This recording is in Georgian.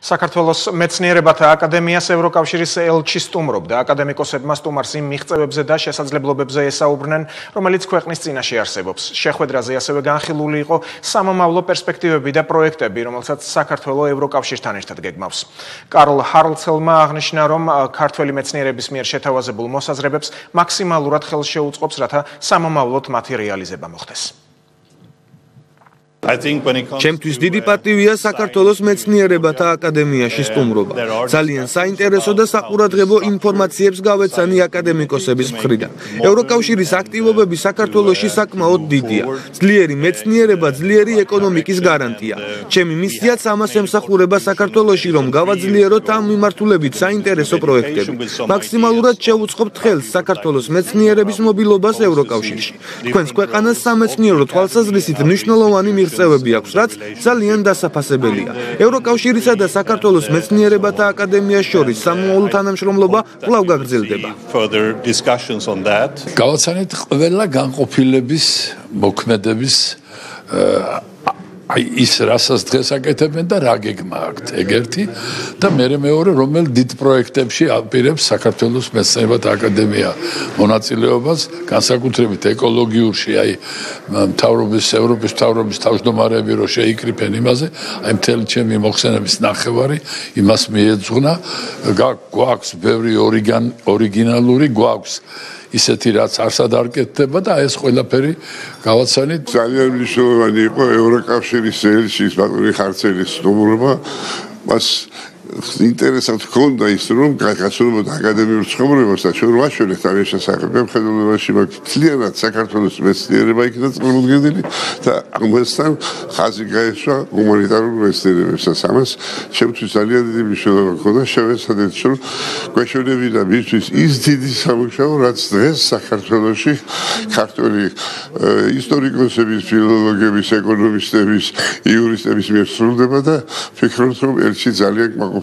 საქართველოს მეცნიერებათა აკადემიას ევროკავშირის ელჩი სტუმრობდა. აკადემიკოსებმა სტუმარს იმ მიღწევებზე და შესაძლებლობებზე ესაუბრნენ, რომელიც ქვეყნის წინაშე არსებობს. შეხვედრაზე ასევე განხილული იყო სამომავლო პერსპექტივები და პროექტები, რომელსაც საქართველო ევროკავშირთან ერთად გეგმავს. კარლ ჰარლცელმა აღნიშნა, რომ ქართველი მეცნიერების მიერ შეთავაზებულ მოსაზრებებს მაქსიმალურად ხელს შეუწყობს, რათა სამომავლოდ მათი რეალიზება მოხდეს. ჩემთვის დიდი პატივია საქართველოს მეცნიერებათა აკადემიაში სტუმრობა. ძალიან საინტერესო და საყურადღებო ინფორმაციებს გავეცანი აკადემიკოსების მხრიდან. ევროკავშირის აქტივობები საქართველოში საკმაოდ დიდია. ძლიერი მეცნიერება, ძლიერი ეკონომიკის გარანტია. ჩემი მისიაც ამას ემსახურება საქართველოში, რომ გავაძლიეროთ ამ მიმართულებით საინტერესო პროექტები. მაქსიმალურად შევუწყობთ ხელს საქართველოს მეცნიერების მობილობას ევროკავშირში. თქვენს ქვეყანას სამეცნიერო თვალსაზრისით მნიშვნელოვანი მიღწევები აქვს, რაც ძალიან დასაფასებელია. ევროკავშირისა და საქართველოს მეცნიერებათა აკადემიას შორის სამომავლო თანამშრომლობა კვლავ გაგრძელდება. გავაცანეთ ყველა განყოფილების მოქმედების ის რასაც დღეს აკეთებენ და რა გეგმა აქვთ, ეგერთი და მეორე რომელ დიდ პროექტებში აპირებს საქართველოს მეცნიერებათა აკადემია მონაწილეობას, განსაკუთრებით ეკოლოგიურში, მთავრობის, ევროპის მთავრობის თავმჯდომარეები რო შეიკრიფენ იმაზე, მთელი ჩემი მოხსენების ნახევარი იმას მიეძღვნა, გვაქვს ბევრი ორიგინალური, გვაქვს ისეთი რაც არსად არ კეთდება და ეს ყველაფერი გავაცანით. ძალიან მნიშვნელოვანი იყო ევროკავშირის ელჩის ბატონი ხარცელის სტუმრობა. მას ინტერესად ჰქონდა ის, რომ გასულობდა აკადემიურ ცხოვრებას და ჩვენ ვაშველეთ ამ შესახებ. მხედველობაში მაქვს ძალიანად საქართველოს მეცნიერება იქნა წარმოდგენილი და ამასთან ხაზი გაესვა ჰუმანიტარულ მეცნიერებებსაც. ამას ჩემთვის ძალიან დიდი მნიშვნელობა ჰქონდა. შევეცადეთ, რომ გვეშველებინა მისთვის ის დიდი სამუშაო, რაც დღეს საქართველოში ქართველი ისტორიკოსების, ფილოლოგების, ეკონომისტების, იურისტების მიერ სრულდება და ვფიქრობ, რომ ელჩი ძალიან კმაყოფილი